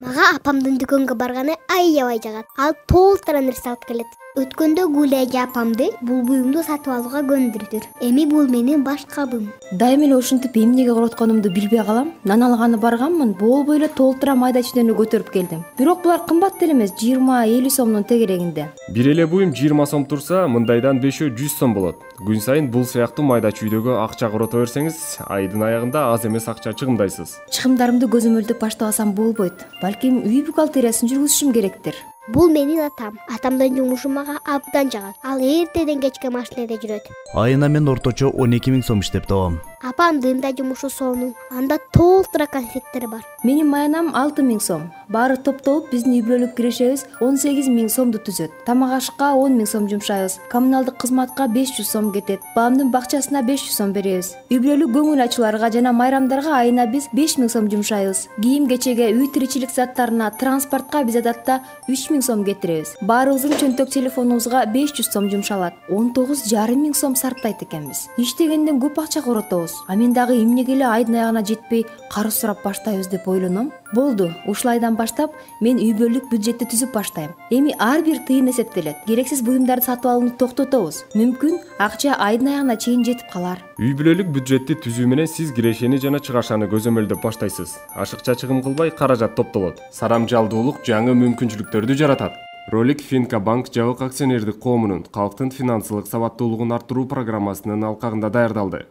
Мага апамдын дүкөнгө барганы аябай жагат. Ал толтура нерсе алып келет. Өткөндө Гүлай эже апамды бул буюмду сатып алууга көндүрдүр. Эми бул менин баш кабым. Дайым эле ушинтип эмнеге коротконумду билбей калам. Нан алганы барганмын, болбой эле толтура майда чүйдөнү көтөрүп келдим. Бирок булар кымбат деле эмес, 20-50 сомдун тегерегинде. Бир эле буюм 20 сом турса, мындайдан 5-100 сом болот. Күн сайын бул сыяктуу майда чүйдөгө акча корото берсеңиз, айдын аягында аз эмес акча чыгымдайсыз. Чыгымдарымды көзөмөлдөп баштап алсам болбойт. Балким үй бухгалтериясын жүргүзүшүм керектир. Бул менин атам. Атамдын жумушу мага абдан жагат. Ал эртеден кечке машинеде жүрөт. Айына мен орточо 12 000 сом иштеп табам. Апамдын да жумушу сонун. Анда толтура конфеттер бар. Менин маянам 6 000 сом. Баары топтолуп биздин үй бүлөлүк кирешебиз 18 000 сомду түзөт. Тамак ашка 10 000 сом жумшайбыз. Коммуналдык кызматка 500 сом кетет. Баламдын бакчасына 500 сом беребиз. Үй бүлөлүк көңүл ачууларга жана майрамдарга айына биз 5 000 сом жумшайбыз. Кийим кечеге, үй тиричилик заттарына, транспортко биз адатта 3 000 сом кетиребиз. Баарыбыздын чөнтөк телефонубузга 500 сом жумшалат. 19,5 000 сом сарптайт экенбиз. Иштегенден көп акча коротобуз. А мен дагы эмнеге эле айдын аягына жетпей карыз сурап баштайбыз деп ойлоном. Болду, ушул айдан баштап мен үй бүлөлүк бюджетти түзүп баштайм. Эми ар бир тыйын эсептелет. Керексиз буюмдарды сатып алууну токтотобуз. Мүмкүн акча айдын аягына чейин жетип калар. Үй бүлөлүк бюджетти түзүү менен сиз кирешени жана чыгашаны көзөмөлдөп баштайсыз. Ашыкча чыгым кылбай каражат топтолот. Сарамжалдуулук жаңы мүмкүнчүлүктөрдү жаратат. Ролик Финка банк жабык акционердик коомунун калктын финансылык сабаттуулугун арттыруу программасынын алкагында даярдалды.